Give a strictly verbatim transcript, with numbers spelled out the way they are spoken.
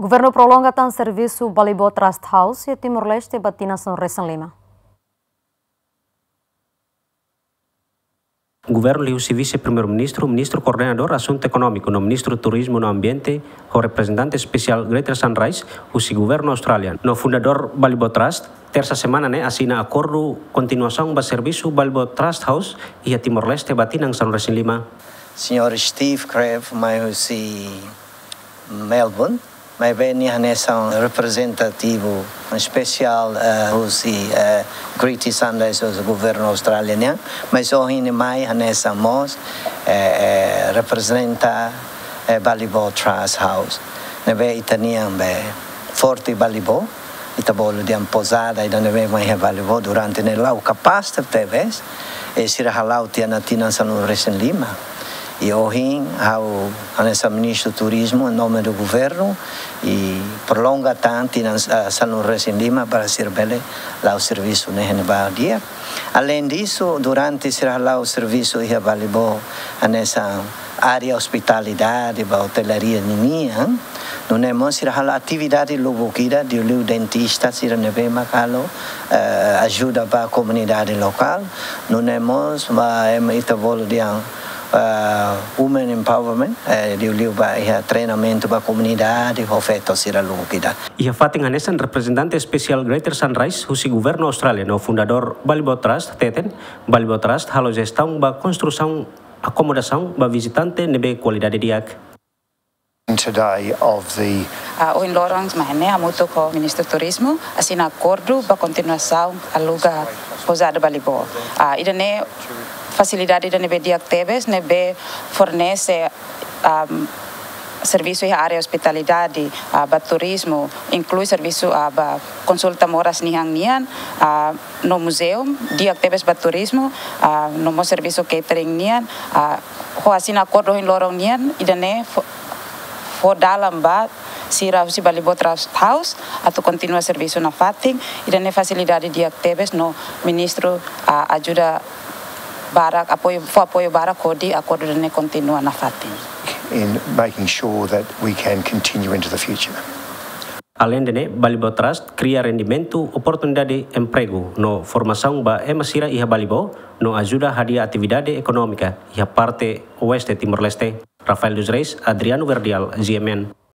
Governu prolonga tan servisu Balibo Trust House iha Timor-Leste ba tinan sanulu-resin-lima. Governu liuhusi Vise-Primeiru-Ministru, Ministru Koordenadór Asuntu Ekonómiku no Ministru Turizmu no Ambiente, ho reprezentante espesiál Greater Sunrise husi Governu Austrália no fundadór Balibo Trust, tersa semana ne'e asina akordu kontinuasaun ba servisu Balibo Trust House iha Timor-Leste ba tinan sanulu-resin-lima. Señór Steve Crabb mai husi Melbourne, maibé nia hanesan reprezentativu espesiál, eh, husi, eh, Greater Sunrise husi Governu Austrália nian, mas ohin nia mai hanesan mós, eh, eh, reprezenta, eh, Balibo Trust House. Ne'ebé ita-nian be Forte Balibo, ita bolu dehan pousada ida ne'ebé mai iha Balibo durante ne'e la'o kapás tebes, i sira hala'o tiha ona tinan sanulu-resin-lima. I ohin ha'u hanesan Ministru Turizmu, em nome do Governo, i prolonga tan tinan, ah, sanulu-resin-lima para sira bele la'o servisu ne'e iha ne'ebá di'ak. Além disso, durante sira hala'o servisu iha Balibo, hanesan área ospitalidade ba otelaria ninian, nune'e mós sira halo atividade lubuk ida, liuliu dentista sira ne'ebé mak halo, eh, ajuda ba komunidade lokál, nune'e mós ba ema ita bolu dehan, eh, women empowerment, eh, liuliu ba iha treinamentu ba komunidade, ho feto sira lubuk ida. Iha fatin hanesan, reprezentante espesiál Greater Sunrise husi Governu Austrália no fundadór Balibo Trust hateten, Balibo Trust halo jestaun ba konstrusaun akomodasaun ba vizitante ne'ebé kualidade di'ak. Today of the Ah, ohin loron mai ne'e hamutuk ho Ministru Turizmu asina akordu ba kontinuasaun aluga pousada Balibo. Ah, ida-ne'e fasilidade ida ne'ebé di'ak tebes, ne'ebé fornese, am, servisu iha área ospitalidade, ah, ba turizmu, inklui servisu, ah, ba konsulta moras nian nian, ah, no muzeu, di'ak tebes ba turizmu, ah, no mós servisu catering nian, ah, ho asina akordu ohin loron nian, ida-ne'e fó, fó dalan ba sira husi Balibo Trust House atu kontinua servisu nafatin, ida-ne'e fasilidade di'ak tebes no Ministru, ah, ajuda barak, apoiu, fó apoiu barak hodi akordu ida-ne'e kontinua nafatin. In making sure that we can continue into the future. Alende ne'e, Balibo Trust kria rendimentu, oportunidade empregu no formasaun ba ema sira iha Balibo, no ajuda hadi'a atividade ekonómika iha parte oeste Timor-Leste. Rafael dos Reis, Adriano Verdial, G M N.